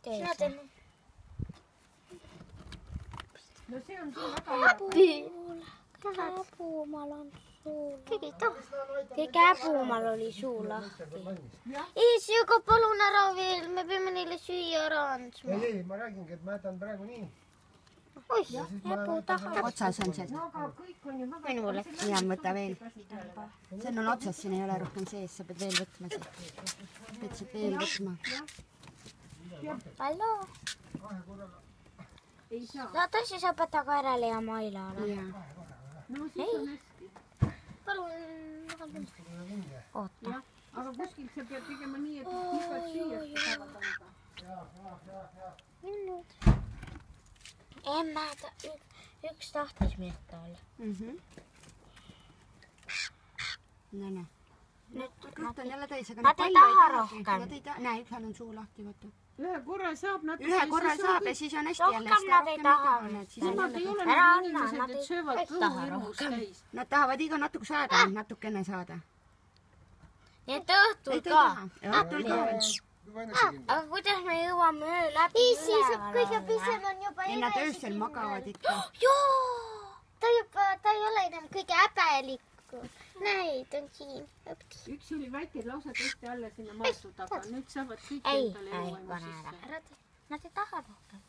Sina teen nii. No see on sul väga hea. Käpumal on suu lahti. Käpumal oli suu lahti. Ei, sööga palun ära veel. Me peame neile süüa ära andma. Ei, ma räägingi, et ma jätan praegu nii. Oih, käpu taha. Otsas on see. No aga kõik on ju väga... Minule. Ja võta veel. See on otsas, siin ei ole rohkem sees. Sa pead veel võtma siit. Pead siit veel võtma. Hallo. Ei saa. No tõsi sa võta ka ära Lea Mailale. No siis on hästi. Palun. Oota. Aga kuskilt sa pead tegema nii, et igat süüast saavad anda. Minnud. Emme, üks tahtis mehta olla. No näe. Kõht on jälle täis, aga Nad ei taha rohkem. Näe, üks on suu lahti, vaata. Ühe korra saab natuke... Ühe korra saab ja siis on hästi jälle. Rohkem nad ei taha. Nemad ei ole Ära need anna, inimesed, nad et ei söövad kõhu taha hirmus rohkem. täis. Nad tahavad iga natuke saada, natukene saada. Nii et õhtul ka. Õhtul ka. Aga kuidas me jõuame öö läbi üleval? Kõige pisem on juba Ei, nad öösel magavad ikka. Joo! ta ei ole enam kõige häbelikku. Näid on siin. Üks oli väike lausa tõesti alla sinna maastud, aga nüüd saavad kõik Ei, endale ei, jõuema pane sisse. ära. Nad ei taha rohkem.